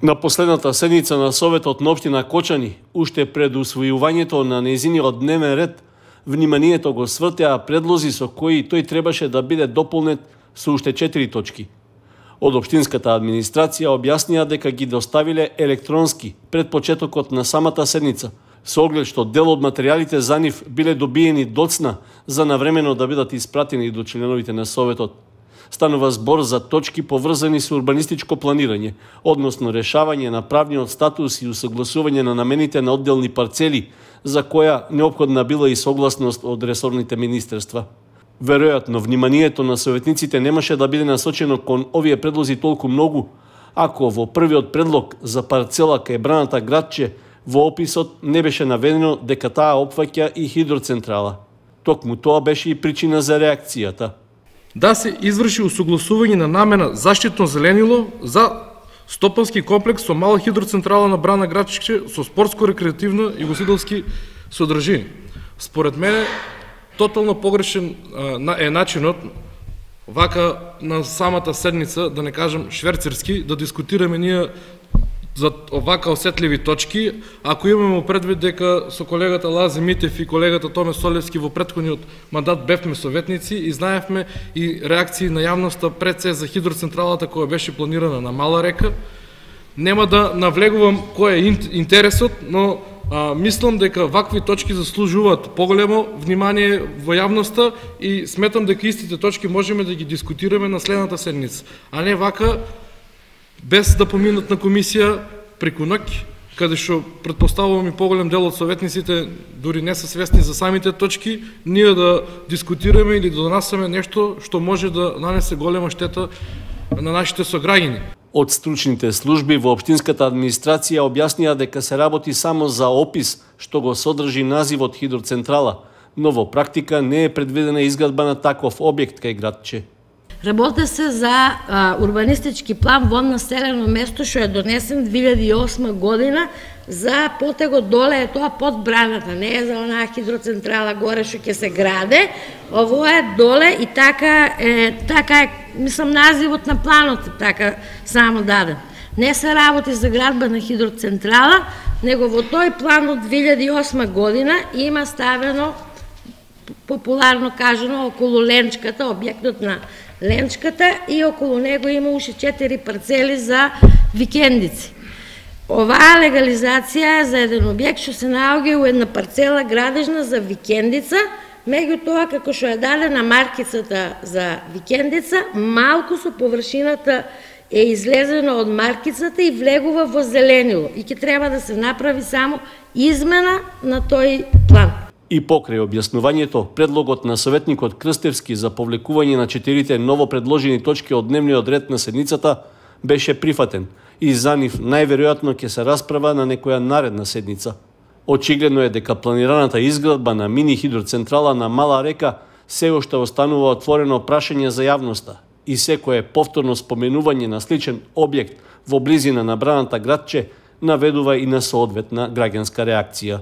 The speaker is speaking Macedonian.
На последната седница на Советот на општина Кочани, уште пред усвојувањето на нејзиниот дневен ред, вниманието го свртеа предлози со кои тој требаше да биде дополнет со уште 4 точки. Од општинската администрација објаснија дека ги доставиле електронски пред почетокот на самата седница, со оглед што дел од материјалите за нив биле добиени доцна за навремено да бидат испратени до членовите на Советот. Станува збор за точки поврзани со урбанистичко планирање, односно решавање на правниот статус и усогласување на намените на одделни парцели, за која неопходна била и согласност од ресорните министерства. Веројатно, вниманието на советниците немаше да биде насочено кон овие предлози толку многу, ако во првиот предлог за парцела кај Браната градче во описот не беше наведено дека таа опфаќа и хидроцентрала. Токму тоа беше и причина за реакцијата. Да се изврши усогласување на намена заштитно зеленило за стопански комплекс со мала хидроцентрала на Брана градче со спортско-рекреативна и гостителски содржини. Според мене, тотално погрешен е начинот вака на самата седница, да не кажам шверцерски, да дискутираме ние за овака осетливи точки, ако имаме предвид дека со колегата Лази Митев и колегата Томе Солевски во претходниот мандат бевме советници и знаевме и реакции на јавноста пред се за хидроцентралата која беше планирана на Мала река. Нема да навлегувам кој е интересот, но мислам дека вакви точки заслужуваат поголемо внимание во јавноста и сметам дека истите точки можеме да ги дискутираме на следната седница, а не вака без да поминат на комисија преку ноќ, каде што претпоставувам и поголем дел од советниците дури не се свесни за самите точки, ние да дискутираме или да донасаме нешто што може да нанесе голема штета на нашите сограѓани. Од стручните служби во општинската администрација објаснија дека се работи само за опис што го содржи називот хидроцентрала, но во практика не е предвидена изградба на таков објект кај градче. Работи се за урбанистички план во населено место што е донесен 2008 година за потегот доле е тоа под Браната, не е за онаа хидроцентрала горе што ќе се граде, ово е доле и така е, мислам називот на планот е така само даден. Не се работи за градба на хидроцентрала, него во тој план од 2008 година има ставено, популарно кажано, околу Ленчката, објектот на Ленчката и околу него има уште 4 парцели за викендици. Оваа легализација е за еден објект што се наоѓа у една парцела градежна за викендица, меѓутоа како што е дадена маркицата за викендица, малку со површината е излезено од маркицата и влегува во зеленило и ќе треба да се направи само измена на тој план. И покрај објаснувањето, предлогот на советникот Крстевски за повлекување на 4 ново предложени точки од дневниот ред на седницата беше прифатен и за нив најверојатно ќе се расправа на некоја наредна седница. Очигледно е дека планираната изградба на мини хидроцентрала на Мала река се уште останува отворено прашање за јавноста и секое повторно споменување на сличен објект во близина на Браната градче наведува и на соодветна граѓанска реакција.